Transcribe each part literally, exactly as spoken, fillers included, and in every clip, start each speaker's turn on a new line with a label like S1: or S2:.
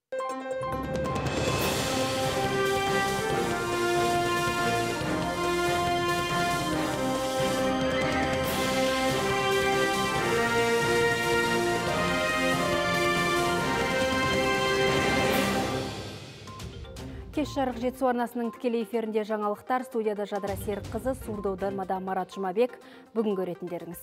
S1: Кеш жарық жетісу арнасының тікелей эфирінде жаңалықтар. Студияда Жадыра Серікқызы, сурдо аудармада Марат Жұмабек. Бүгін көретіндеріңіз.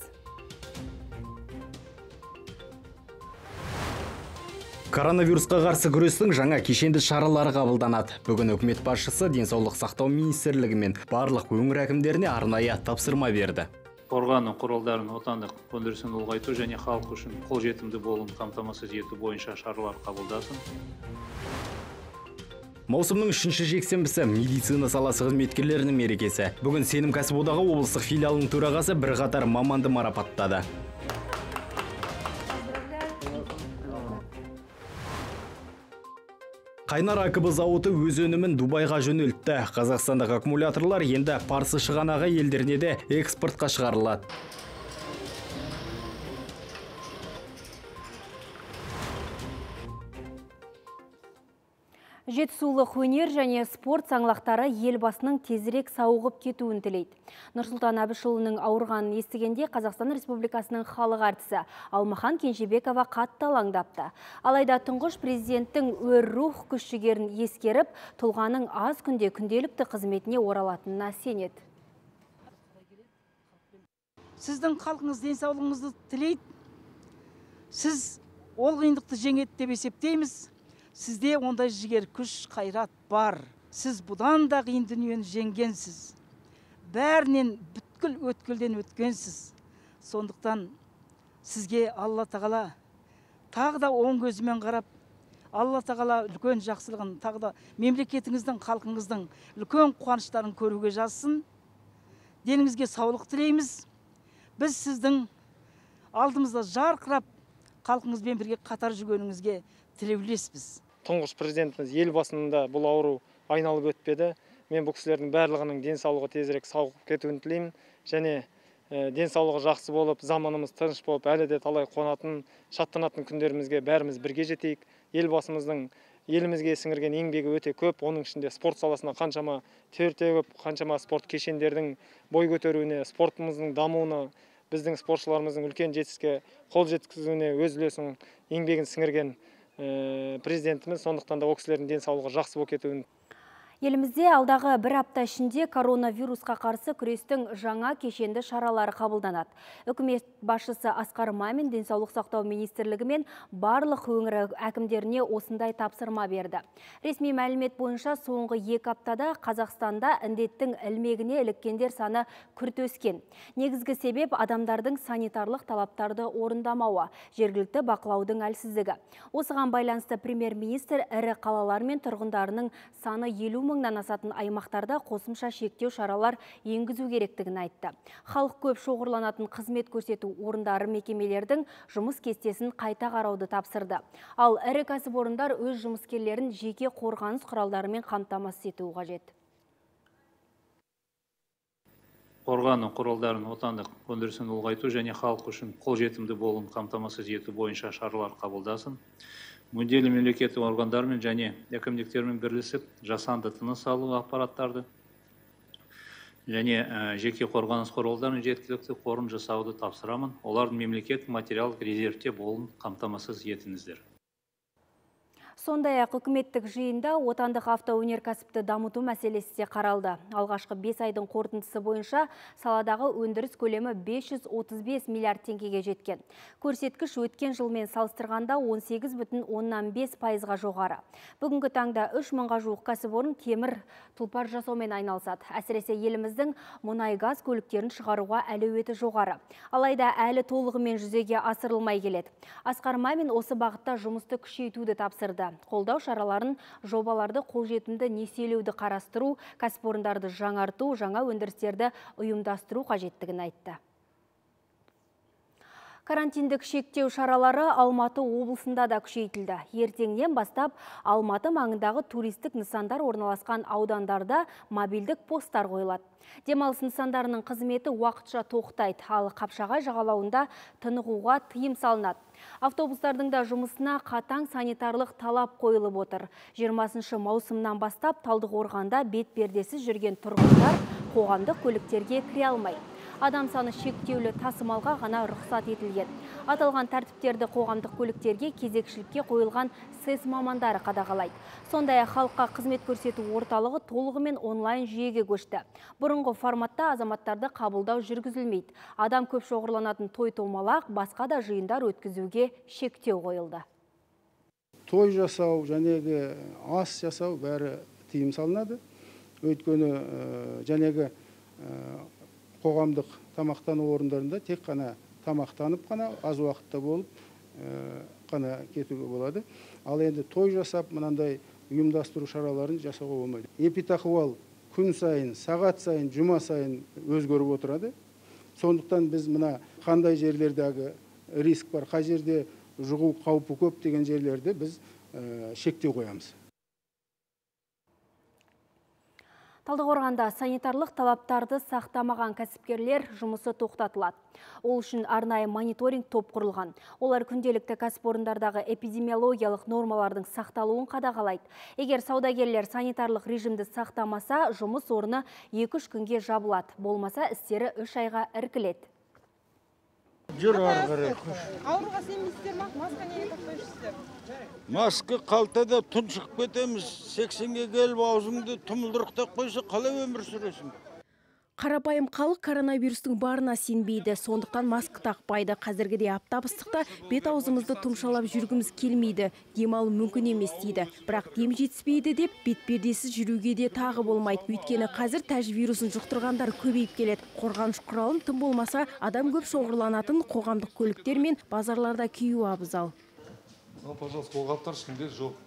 S2: Коронавирусқа қарсы күрестің жаңа кешенді шаралары қабылданады. Бүгін үкімет басшысы денсаулық сақтау министрлігі мен барлық өңір әкімдеріне арнайы тапсырма берді.
S3: Қорғану құралдарын отандық өндірісін ұлғайту және халық үшін қолжетімді болуын қамтамасыз ету бойынша шаралар қабылдасын.
S2: Маусымның үшінші жексенбісі медицина саласы қызметкерлерінің мерекесі. Бүгін Сенім кәсіподағы облыстық филиалының төрағасы бірқатар маманды марапаттады. Қайнар АКБ зауыты өз өнімін Дубайға жөнелтті. Қазақстандық аккумуляторлар енді Парсы шығанағы елдеріне де экспортқа шығарылады.
S1: Жетісулық өнер және спорт саңлақтары елбасының тезірек сауығып кетуін тілейді. Нұрсұлтан Әбішұлының ауырғанын естігенде Қазақстан Республикасының халық әртісі Алмахан Кенжебекова қатты алаңдапты. Алайда тұңғыш президенттің өр рух күш-жігерін ескеріп, тұлғаның аз күнде күнделікті қызметіне оралатынына сенеді.
S4: Сіздің халқыңыз денсаулығыңызды тілейді. Сіз ол қиындықты жеңеді деп есептейміз. Сізде ондай жігер, күш, қайрат бар. Сіз бұдан да қиын дүниені жеңгенсіз. Бәрінен бүткіл өткілден өткенсіз. Сондықтан сізге Алла тағала тағы да оң көзімен қарап, Алла тағала үлкен жақсылығын, тағы да мемлекетіңіздің, халқыңыздың үлкен қуаныштарын көруге жазсын. Деніңізге саулық тілейміз. Біз сіздің алдымызда жарқырап, халқыңызбен бірге қатар жүргеніңізге тілеулеспіз.
S5: Тұңғыш президентіміз елбасында бұл ауру айналып өтпеді. Мен бұл кісілердің барлығының денсаулығы тезірек сауығып кетуін тілеймін. Және ә, денсаулығы жақсы болып, заманымыз тыныш болып, әлі де талай қуанатын, шаттанатын күндерімізге бәріміз бірге жетейік. Елбасымыздың елімізге сіңірген еңбегі өте көп. Оның ішінде спорт саласына қаншама тер төгіп, қаншама спорт кешендердің бой көтеруіне, спортымыздың дамуына, біздің спортшыларымыздың үлкен жетістікке қол жеткізуіне өз үлесін, еңбегін сіңірген президентіміз, сондықтан да ол кісілердің денсаулығы жақсы болып кетуін.
S1: Елімізде алдағы бір апта ішінде коронавирусқа қарсы күрестің жаңа кешенді шаралары қабылданады. Үкімет басшысы Асқар Мамин денсаулық сақтау министрлігі мен барлық өңір әкімдеріне осындай тапсырма берді. Ресми мәлімет бойынша соңғы екі аптада Қазақстанда індеттің ілмегіне іліккендер саны күрт өскен. Негізгі себеп адамдардың санитарлық талаптарды орындамауы, жергілікті бақылаудың әлсіздігі. Осыған байланысты премьер-министр ірі қалалар мен тұрғындарының саны елу мыңнан асатын аймақтарда қосымша шектеу шаралар енгізу керектігін айтты. Халық көп шоғырланатын қызмет көрсету орындары мекемелердің жұмыс кестесін қайта қарауды тапсырды. Ал ірі кәсіпорындар өз жұмыскерлерін жеке қорғаныс құралдарымен қамтамасыз етуі қажет.
S3: Қорғану құралдарын отандық өндірісін ұлғайту және халық үшін қолжетімді болуын қамтамасыз ету бойынша шаралар қабылдасын. Мүдделі мемлекеттік органдармен және әкімдіктермен бірлесіп жасанды тыныс алу аппараттарды және жеке қорғаныс құралдарының жеткілікті қорын жасауды тапсырамын. Олардың мемлекет материалдық резервте болуын қамтамасыз етіңіздер.
S1: Сондай-ақ үкіметтік жиында отандық автоөнеркәсіпті дамыту мәселесі де қаралды. Алғашқы бес айдың қорытындысы бойынша саладағы өндіріс көлемі бес жүз отыз бес миллиард теңгеге жеткен. Көрсеткіш өткен жылмен салыстырғанда он сегіз бүтін оннан бес пайызға жоғары. Бүгінгі таңда үш мыңға жуық кәсіпорын темір тұлпар жасаумен айналысады. Әсіресе еліміздің мұнай газ көліктерін шығаруға әлеуеті жоғары. Алайда әлі толығымен жүзеге асырылмай келеді. Асқар Мамин осы бағытта жұмысты күшейтуді тапсырды. Қолдау шараларын, жобаларды қолжетімді несиелеуді қарастыру, кәсіпорындарды жаңарту, жаңа өндірістерді ұйымдастыру қажеттігін айтты. Карантиндік шектеу шаралары Алматы облысында да күшейтілді. Ертеңнен бастап Алматы маңындағы туристік нысандар орналасқан аудандарда мобильдік посттар қойылады. Демалыс нысандарының қызметі уақытша тоқтайды, ал Қапшағай жағалауында тынығуға тыйым салынады. Автобустардың да жұмысына қатаң санитарлық талап қойылып отыр. жиырмасыншы маусымнан бастап Талдықорғанда бетпердесіз жүрген тұрғындар қоғамдық көліктерге кіре алмайды. Адам саны шектеулі тасымалға ғана рұқсат етілген. Аталған тәртіптерді қоғамдық көліктерге кезекшілікке қойылған сэс мамандары қадағалайды. Сондай-ақ халыққа қызмет көрсету орталығы толығымен онлайн жүйеге көшті. Бұрынғы форматта азаматтарды қабылдау жүргізілмейді. Адам көп шоғырланатын той-томалақ, басқа да жиындар өткізуге шектеу қойылды.
S6: Той жасау, жәнегі ас жасау бәрі тыйым салынады. Өйткені жәнегі қоғамдық тамақтану орындарында тек қана тамақтанып қана аз уақытта болып қана кетуге болады. Ал енді той жасап, мынандай ұйымдастыру шараларын жасауға болмайды. Эпидахуал күн сайын, сағат сайын, жұма сайын өзгеріп отырады. Сондықтан біз мына қандай жерлердегі риск бар, қай жерде жұғу қаупі көп деген жерлерде біз шектеу қоямыз.
S1: Талдықорғанда санитарлық талаптарды сақтамаған кәсіпкерлер жұмысы тоқтатылады. Ол үшін арнайы мониторинг топ құрылған. Олар күнделікті кәсіпорындардағы эпидемиологиялық нормалардың сақталуын қадағалайды. Егер саудагерлер санитарлық режимді сақтамаса, жұмыс орны екі-үш күнге жабылады. Болмаса, істері үш айға іркіледі.
S7: Жүр арғыры.
S8: Ауруға сенбейсіздер ма? Маска неге тақпайсыздар?
S7: Маска қалтада тұншық кетеміз. сексенге келіп аузыңды тұмылдырық тақпайса қалай өмір сүресің?
S9: Қарапайым халық коронавирустың барына сенбейді, сондықтан маска тақпайды. Қазіргідей аптап ыстықта бет аузымызды тұмшалап жүргіміз келмейді, демалу мүмкін емес дейді. Бірақ дем жетіспейді деп бетпердесіз жүруге де тағы болмайды. Өйткені қазір тәж вирусын жұқтырғандар көбейіп келеді. Қорғаныш құралын тым болмаса адам көп шоғырланатын қоғамдық көліктер мен базарларда кию абзал.
S10: Ну, пожалуйста, қолғаптар ешкімде жоқ.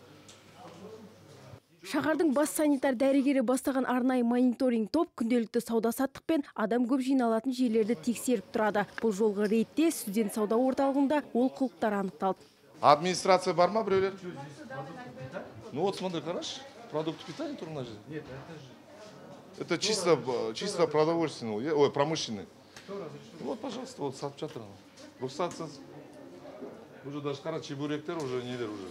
S9: Шаһардың бас санитар дәрігері бастаған арнайы мониторинг топ күнделікті сауда-саттық пен адам көп жиналатын жерлерді тексеріп тұрады. Бұл жолғы рейдте студент сауда орталығында олқылықтар анықталды.
S10: Администрация бар ма біреулер? Ну вот смотри, хорошо. Продукты питания тур на жизнь. Нет, это же... Это чисто, чисто продовольственный, ой, промышленный. Вот, пожалуйста, вот сапчатыр. Рұқсатсыз. Уже даже қара чебуректер уже нелер уже.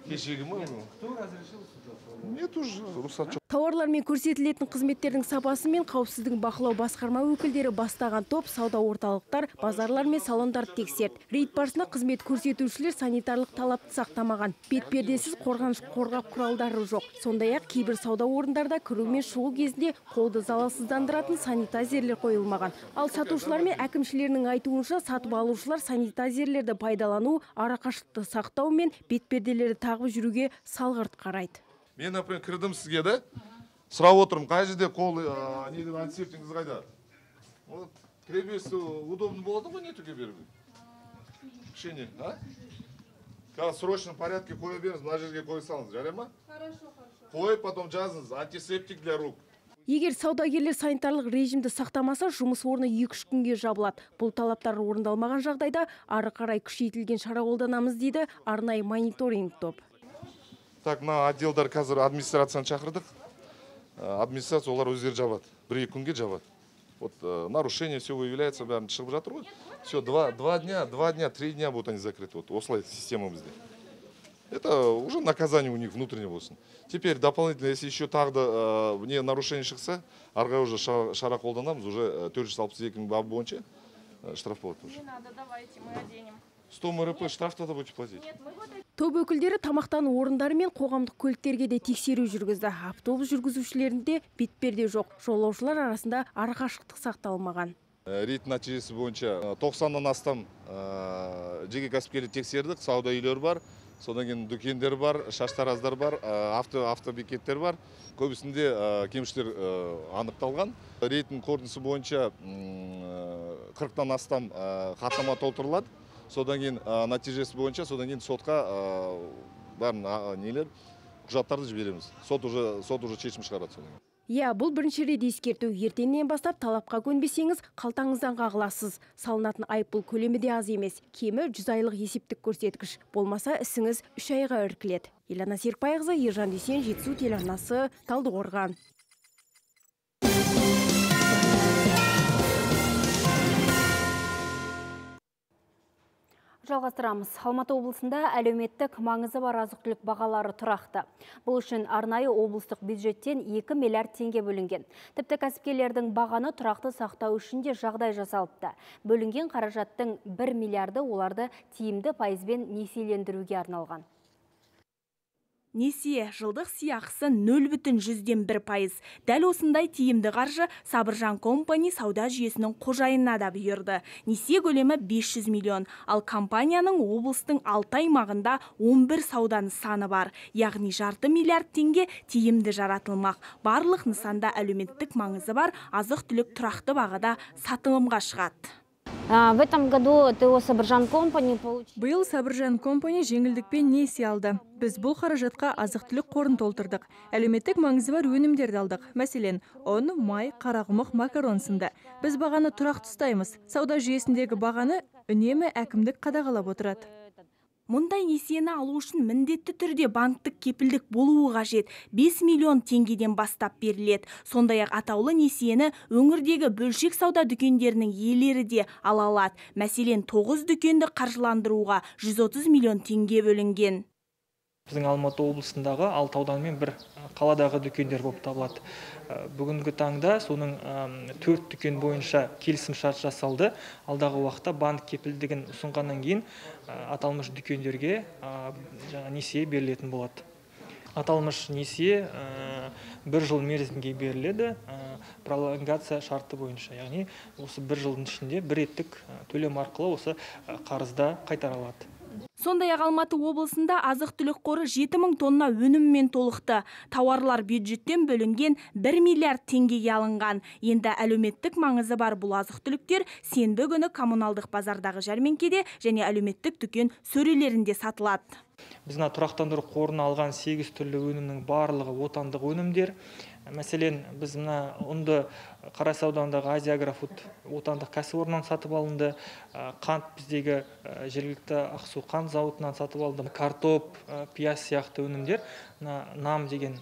S10: Кешегі мы. Кто разрешил сюда? Нет уже, рұқсат жоқ.
S9: Тауарлармен көрсетілетін қызметтердің сапасы мен қауіпсіздігін бақылау басқарма өкілдері бастаған топ сауда орталықтар, базарлар мен салондарды тексерді. Рейд барысында қызмет көрсетушілер санитарлық талапты сақтамаған. Бетпердесіз қорғаныш қорғап құралдары жоқ. Сондай-ақ кейбір сауда орындарда кіру мен шығу кезінде қолды залалсыздандыратын санитайзерлер қойылмаған. Ал сатушылар мен әкімшілерінің айтуынша сатып алушылар санитайзерлерді пайдалану, арақашықты сақтау мен бетперделерді тағып жүруге салғырт қарайды.
S10: Мен, например, кірдім сізге да, сұрап отырмын, қай жерде қол, не деп антисептингіз қайда? Кіребесі удобно болады ғой, не түге беруге? Кішене, а? Қазір срочно порядке қоя беріңіз, мына жерге қой салыңыз, жарай ма? Хорошо, хорошо. Қой, потом жазыңыз, антисептик для рук.
S9: Егер саудагерлер санитарлық режимді сақтамаса, жұмыс орны екі-үш күнге жабылады. Бұл талаптар орындалмаған жағдайда ары қарай күшейтілген шара қолданамыз дейді арнайы мониторинг топ.
S10: Так, мына отделдар қазір администрацияны шақырдық. Администрация олар өздері жабады. Бір-екі күнге жабады. Вот нарушение все выявляется, бәрін шығып жатыр ғой. Все, два, два дня, два дня, три дня будут они закрыты. Вот осылай система бізде. Это уже наказание у них внутреннее болсын. Теперь дополнительно, если еще тағы да не нарушение шықса, арғы уже шара қолданамыз, уже төрт жүз алпыс екі бабы бойынша штраф болады уже.
S8: Не надо, давайте, мы оденем.
S10: сто МРП штраф-то будете платить.
S9: Топ өкілдері тамақтану орындары мен қоғамдық көліктерге де тексеру жүргізді. Автобус жүргізушілерінде бетперде жоқ. Жолаушылар арасында арақашықтық сақталмаған.
S10: Рейд нәтижесі бойынша тоқсаннан астам жеке кәсіпкерлерді тексердік, сауда үйлері бар, содан кейін дүкендер бар, шаштараздар бар, автобекеттер бар. Көбісінде кемшілер анықталған. Рейдтің қорытындысы бойынша қырықтан астам хаттама толтырылады. Содан кейін нәтижесі бойынша, содан кейін сотқа бәрін нелер, құжаттарды жібереміз. Сот уже, сот уже шешім шығарады содан кейін.
S9: Иә, бұл бірінші рет ескерту. Ертеңнен бастап талапқа көнбесеңіз, қалтаңыздан қағыласыз. Салынатын айыппұл көлемі де аз емес. Кемі жүз айлық есептік көрсеткіш. Болмаса ісіңіз үш айға іркіледі. Елана Серікбайқызы, Ержан Дүйсен, Жетісу телеарнасы, Талдықорған.
S1: Жалғастырамыз. Алматы облысында әлеуметтік маңызы бар азық-түлік бағалары тұрақты. Бұл үшін арнайы облыстық бюджеттен екі миллиард теңге бөлінген. Тіпті кәсіпкерлердің бағаны тұрақты сақтау үшін де жағдай жасалыпты. Бөлінген қаражаттың бір миллиарды оларды тиімді пайызбен несиелендіруге арналған.
S11: Несие жылдық сыйақысы нөл бүтін жүзден бір пайыз. Дәл осындай тиімді қаржы Сабыржан компани сауда жүйесінің қожайынына да бұйырды. Несие көлемі бес жүз миллион, ал компанияның облыстың алты аймағында он бір сауда нысаны бар. Яғни жарты миллиард теңге тиімді жаратылмақ. Барлық нысанда әлеуметтік маңызы бар азық-түлік тұрақты бағада сатылымға шығады.
S12: В этом году ТО Сабыржан компани получил...
S13: Биыл Сабыржан компани жеңілдікпен несие алды. Біз бұл қаражатқа азық-түлік қорын толтырдық. Әлеуметтік маңызы бар өнімдерді алдық. Мәселен, ұн, май, қарақұмық, макарон сынды. Біз бағаны тұрақты ұстаймыз. Сауда жүйесіндегі бағаны үнемі әкімдік қадағалап отырады.
S11: Мұндай несиені алу үшін міндетті түрде банктік кепілдік болуы қажет. бес миллион теңгеден бастап беріледі. Сондай-ақ атаулы несиені өңірдегі бөлшек сауда дүкендерінің иелері де ала алады. Мәселен, тоғыз дүкенді қаржыландыруға жүз отыз миллион теңге бөлінген.
S5: Біздің Алматы облысындағы алты аудан мен бір қаладағы дүкендер болып табылады. Бүгінгі таңда соның төрт дүкен бойынша келісім шарт жасалды. Алдағы уақытта банк кепілдігін ұсынғаннан кейін аталмыш дүкендерге жаңа несие берілетін болады. Аталмыш несие бір жыл мерзімге беріледі, пролонгация шарты бойынша. Яғни осы бір жылдың ішінде бір реттік төлем арқылы осы қарызда қайтарылады.
S11: Сондай-ақ Алматы облысында азық-түлік қоры жеті мың тонна өніммен толықты. Тауарлар бюджеттен бөлінген бір миллиард теңгеге алынған. Енді әлеуметтік маңызы бар бұл азық-түліктер сенбі күні коммуналдық базардағы жәрмеңкеде және әлеуметтік дүкен сөрелерінде сатылады.
S5: Біз тұрақтандыру қорына алған сегіз түрлі өнімнің барлығы отандық өнімдер. Мәселен, біз мына ұнды Қарасай ауданындағы Азия Агрофуд отандық кәсіпорыннан сатып алынды. Қант біздегі жергілікті Ақсу қант зауытынан сатып алынды. Картоп, пияз сияқты өнімдер нам деген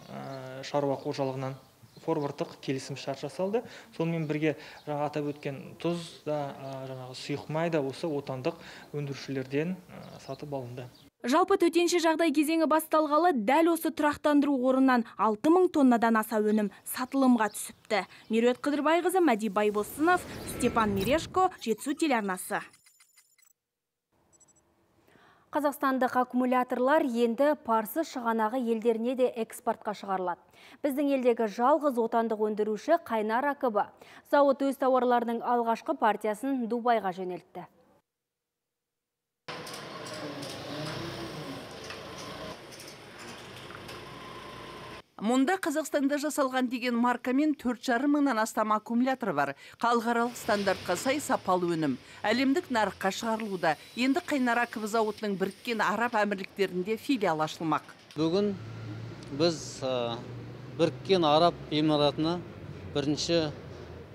S5: шаруа қожалығынан форвардтық келісім шарт жасалды. Сонымен бірге жаңа атап өткен тұз да, жаңағы сұйық май да осы отандық өндірушілерден сатып алынды.
S11: Жалпы төтенше жағдай кезеңі басталғалы дәл осы тұрақтандыру орыннан алты мың тоннадан аса өнім сатылымға түсіпті. Меруерт Қыдырбайқызы, Мәди Байбосынов, Степан Мерешко, Жетісу телеарнасы.
S1: Қазақстандық аккумуляторлар енді парсы шығанағы елдеріне де экспортқа шығарылады. Біздің елдегі жалғыз отандық өндіруші Қайнар АКБ. Зауыт өз тауарларының алғашқы партиясын Дубайға жөнелтті.
S14: Мұнда Қазақстанда жасалған деген маркамен төрт жарым мыңнан астам аккумулятор бар. Халықаралық стандартқа сай сапалы өнім. Әлемдік нарыққа шығарылуда. Енді Қайнар АКБ зауытының Біріккен Араб Әмірліктерінде филиал ашылмақ.
S15: Бүгін біз Біріккен Араб Эмиратына бірінші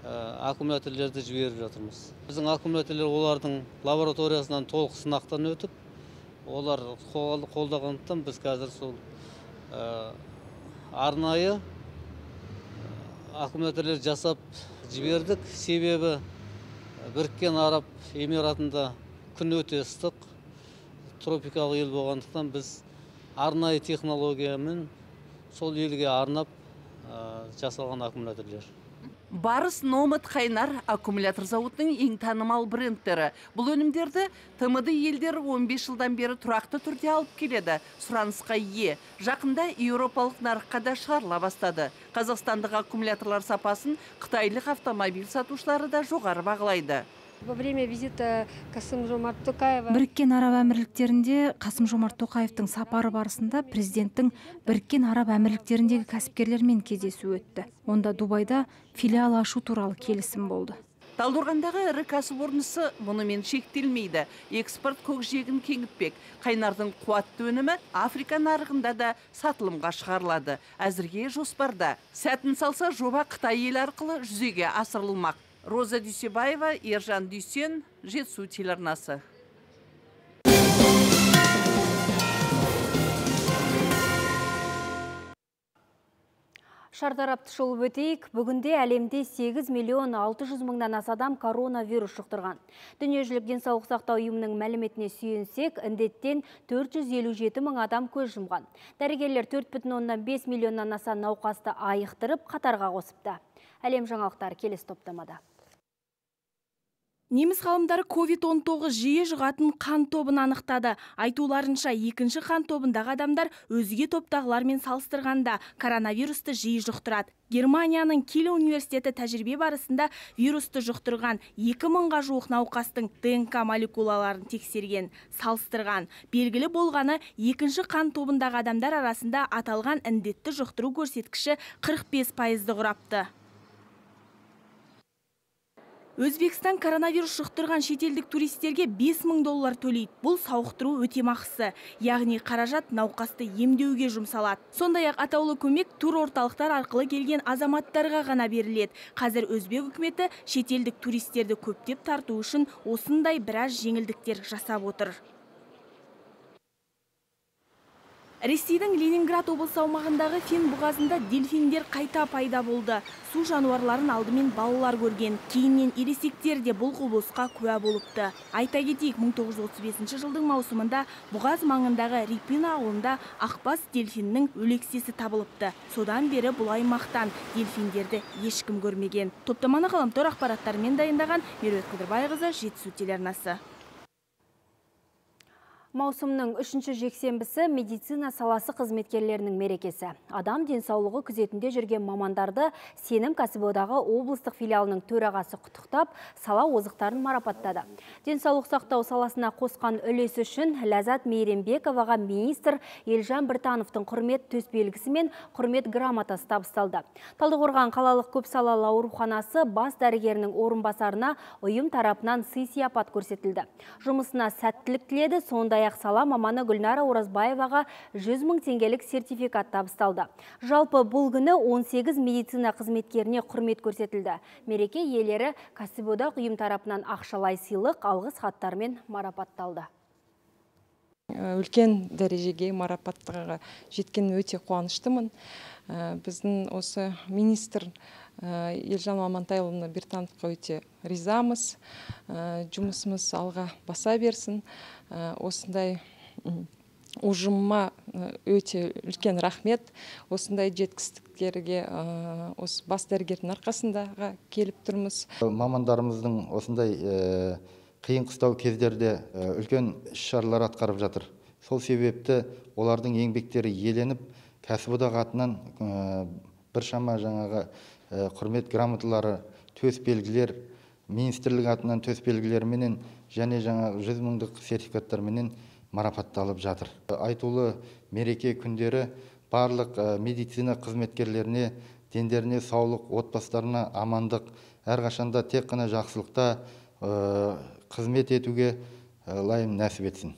S15: аккумуляторлерді жіберіп жатырмыз. Біздің аккумуляторлер олардың лабораториясынан толық сынақтан өтіп, олар қолдағандықтан біз қазір сол арнайы аккумуляторлер жасап жібердік. Себебі Біріккен Араб Эмиратында күн өте ыстық, тропикалық ел болғандықтан біз арнайы технологиямен сол елге арнап жасалған аккумуляторлер.
S14: Барыс Номад Қайнар аккумулятор зауытының ең танымал брендтері. Бұл өнімдерді ТМД елдер он бес жылдан бері тұрақты түрде алып келеді. Сұранысқа ие. Жақында еуропалық нарыққа да шығарыла бастады. Қазақстандық аккумуляторлар сапасын қытайлық автомобиль сатушылары да жоғары бағалайды.
S16: Во время визита Қасым-Жомарт Тоқаева
S17: Біріккен Араб Әмірліктерінде Қасым-Жомарт Тоқаевтың сапары барысында президенттің Біріккен Араб Әмірліктеріндегі кәсіпкерлермен кездесу өтті. Онда Дубайда филиал ашу туралы келісім болды.
S14: Талдықорғандағы ірі кәсіпорнысы мұнымен шектелмейді. Экспорт көкжиегін кеңітпек. Қайнардың қуатты өнімі Африка нарығында да сатылымға шығарылады. Әзірге жоспарда. Сәтін салса, жоба Қытай ел арқылы жүзеге асырылмақ. Роза Дүйсебаева, Ержан Дүйсен, Жетісу телеарнасы.
S1: Шартарапты шолып өтейік. Бүгінде әлемде сегіз миллион алты жүз мыңнан аса адам коронавирус жұқтырған. Дүниежүзілік денсаулық сақтау ұйымының мәліметіне сүйенсек, індеттен төрт жүз елу жеті мың адам көз жұмған. Дәрігерлер төрт бүтін оннан бес миллионнан аса науқасты айықтырып, қатарға қосыпты. Әлем жаңалықтары келесі топтамада.
S11: Неміс ғалымдары ковид он тоғыз жиі жұғатын қан тобын анықтады. Айтуларынша, екінші қан тобындағы адамдар өзге топтағылармен салыстырғанда коронавирусты жиі жұқтырады. Германияның Киль университеті тәжірибе барысында вирусты жұқтырған екі мыңға жуық науқастың ДНК молекулаларын тексерген, салыстырған. Белгілі болғаны, екінші қан тобындағы адамдар арасында аталған індетті жұқтыру көрсеткіші қырық бес пайызды құрапты. Өзбекстан коронавирус жұқтырған шетелдік туристерге бес мың доллар төлейді. Бұл сауықтыру өтемақысы, яғни қаражат науқасты емдеуге жұмсалады. Сондай-ақ атаулы көмек тур орталықтар арқылы келген азаматтарға ғана беріледі. Қазір Өзбек үкіметі шетелдік туристерді көптеп тарту үшін осындай біраз жеңілдіктер жасап отыр. Ресейдің Ленинград облысы аумағындағы Фин бұғазында дельфиндер қайта пайда болды. Су жануарларын алдымен балалар көрген, кейіннен ересектер де бұл құбылысқа куә болыпты. Айта кетейік, мың тоғыз жүз отыз бесінші жылдың маусымында бұғаз маңындағы Рипин ауылында ақбас дельфиннің өлексесі табылыпты. Содан бері бұл аймақтан дельфиндерді ешкім көрмеген. Топтаманы ғаламтор ақпараттарымен дайындаған Меруерт Қыдырбайқызы, Жетісу телеарнасы.
S1: Маусымның үшінші жексенбісі медицина саласы қызметкерлерінің мерекесі. Адам денсаулығы күзетінде жүрген мамандарды сенім кәсіподағы облыстық филиалының төрағасы құттықтап, сала озықтарын марапаттады. Денсаулық сақтау саласына қосқан үлесі үшін Ләззат Мейрембековаға министр Елжан Біртановтың құрмет төсбелгісі мен құрмет грамотасы табысталды. Талдықорған қалалық көпсалалы ауруханасы бас дәрігерінің орынбасарына ұйым тарапынан сый-сияпат көрсетілді. Жұмысына сәттілік тіледі, сондай аяқ сала маманы Гүлнара Оразбаеваға жүз мың теңгелік сертификат табысталды. Жалпы бұл күні он сегіз медицина қызметкеріне құрмет көрсетілді. Мереке иелері кәсіподақ ұйым тарапынан ақшалай сыйлық, алғыс хаттармен марапатталды.
S18: Үлкен дәрежеге марапаттарға жеткен өте қуаныштымын. Біздің осы министр Елжан Амантайұлына Біртановқа өте ризамыз. Жұмысымыз алға баса берсін. Осындай ұжымыма өте үлкен рахмет. Осындай жеткістіктерге осы бас дәрігердің арқасындаға келіп тұрмыз.
S19: Мамандарымыздың осындай қиын қыстау кездерде үлкен іс-шаралар атқарып жатыр. Сол себепті олардың еңбектері еленіп, кәсіподақ атынан біршама жаңағы құрмет грамоталары, төс белгілер, министрлік атынан төс белгілерменен және жаңағы жүз мыңдық сертификаттарменен марапатталып жатыр. Айтулы мереке күндері барлық медицина қызметкерлеріне, дендеріне саулық, отбасыларына амандық, әрқашанда тек қана жақсылықта қызмет етуге лайым нәсіп етсін.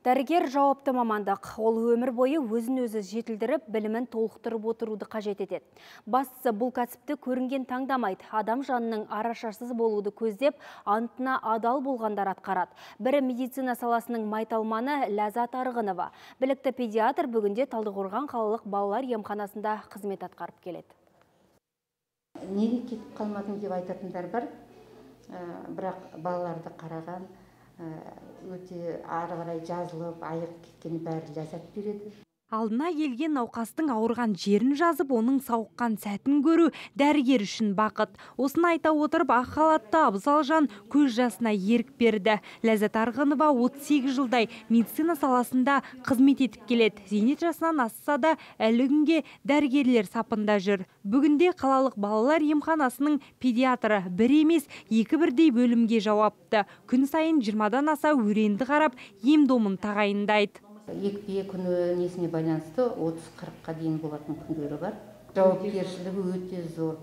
S1: Дәрігер жауапты мамандық. Ол өмір бойы өзін өзі жетілдіріп, білімін толықтырып отыруды қажет етеді. Бастысы бұл кәсіпті көрінген таңдамайды. Адам жанының арашасыз болуды көздеп, антына адал болғандар атқарады. Бірі медицина саласының майталманы Ләззат Арғынова. Білікті педиатр бүгінде Талдықорған қалалық балалар емханасында қызмет атқарып келеді.
S20: Неге кетіп қалмадың деп айтатындар бар, бірақ балаларды қараған, өте ары қарай жазылып, айығып кеткені бәрі ләззат береді.
S21: Алдына келген науқастың ауырған жерін жазып, оның сауыққан сәтін көру дәрігер үшін бақыт. Осыны айта отырып, ақ халатты абзал жан көз жасына ерік берді. Ләззат Арғынова отыз сегіз жылдай медицина саласында қызмет етіп келеді. Зейнет жасынан асса да әлі күнге дәрігерлер сапында жүр. Бүгінде қалалық балалар емханасының педиатры бір емес, екі бірдей бөлімге жауапты. Күн сайын жиырмадан аса өренді қарап, ем-домын тағайындайды.
S20: Екпе күні несіне байланысты отыз қырыққа дейін болатын күндері бар. Жауапкершілігі өте зор.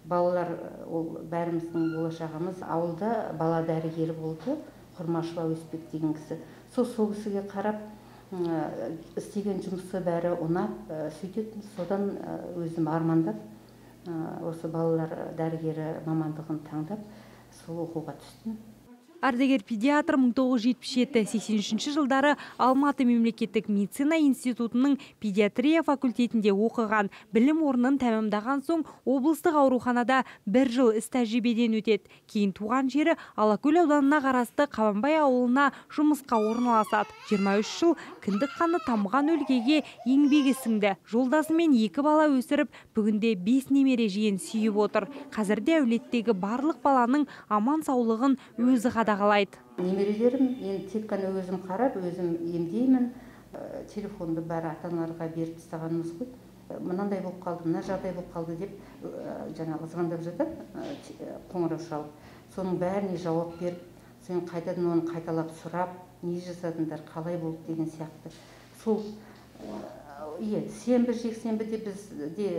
S20: балалар ол бәріміздің болашағымыз. Ауылда бала дәрігері болды, Құрмашева Өспек деген кісі. Сол сол кісіге қарап істеген жұмысы бәрі ұнап, сөйтетін, содан өзім армандап, осы балалар дәрігері мамандығын таңдап, сол оқуға түстім.
S21: Ардагер педиатр мың тоғыз жүз жетпіс жеті сексен үшінші жылдары Алматы мемлекеттік медицина институтының педиатрия факультетінде оқыған. Білім орнын тәмамдаған соң облыстық ауруханада бір жыл іс тәжірибеден өтеді. Кейін туған жері Алакөл ауданына қарасты Қабанбай ауылына жұмысқа орналасады. жиырма үш жыл кіндік қаны тамған өлкеге еңбегі сіңді. Жолдасымен екі бала өсіріп, бүгінде бес немере жиен сүйіп отыр. Қазірде әулеттегі барлық баланың аман саулығын өзі қадағалайды.
S20: Немерелерім енді тек қана өзім қарап, өзім емдеймін. Телефонды бәрі ата-аналарға беріп тастағанымыз ғой. Мынандай болып қалды, мына жағдай болып қалды деп жаңағы звондап жатады, қоңырау шалып. Соның бәріне жауап беріп, сен қайтадан оны қайталап сұрап, не жасадыңдар, қалай болды деген сияқты. Сол иә, сенбі жексенбіде бізде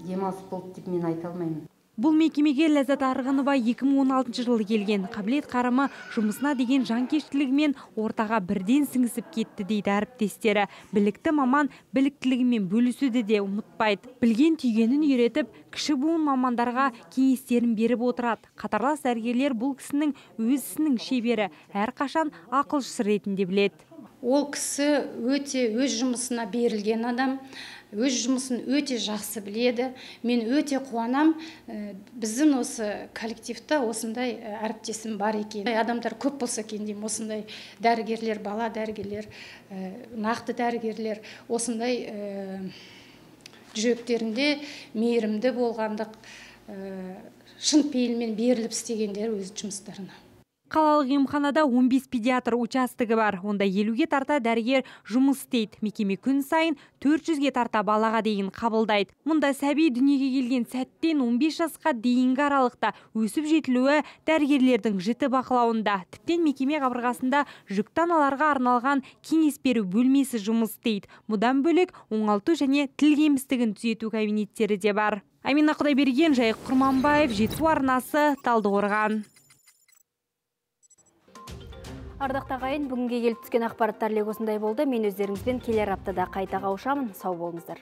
S20: демалыс болды деп мен айта алмаймын.
S21: Бұл мекемеге Ләззат Арғынова екі мың он алтыншы жылы келген. Қабілет қарымы жұмысына деген жанкештілігімен ортаға бірден сіңісіп кетті дейді әріптестері. Білікті маман біліктілігімен бөлісуді де ұмытпайды. Білген түйгенін үйретіп, кіші буын мамандарға кеңестерін беріп отырады. Қатарлас дәрігерлер бұл кісінің өз ісінің шебері, әрқашан ақылшысы ретінде біледі.
S2: Ол кісі өте өз жұмысына берілген адам, өз жұмысын өте жақсы біледі. Мен өте қуанам, біздің осы коллективта осындай әріптесім бар екен. Адамдар көп болса екен деймін, осындай дәрігерлер, бала дәрігерлер, нақты дәрігерлер, осындай жүректерінде мейірімді болғандық, шын пейілмен беріліп істегендер өз жұмыстарына.
S21: Қалалық емханада он бес педиатр участығы бар. Онда елуге тарта дәрігер жұмыс істейді. Мекеме күн сайын төрт жүзге тарта балаға дейін қабылдайды. Мұнда сәби дүниеге келген сәттен он бес жасқа дейінгі аралықта өсіп жетілуі дәрігерлердің жіті бақылауында. Тіптен мекеме қабырғасында жүкті аналарға арналған кеңес беру бөлмесі жұмыс істейді. Бұдан бөлек оңалту және тіл кемістігін түзету кабинеттері де бар. Амина Құдайберген, Жайық Құрманбаев, Жетісу арнасы, Талдықорған.
S1: Ардақ тағайын, бүгінге келіп түскен ақпараттар лек осындай болды. Мен өздеріңізбен келер аптада қайта қауышамын. Сау болыңыздар.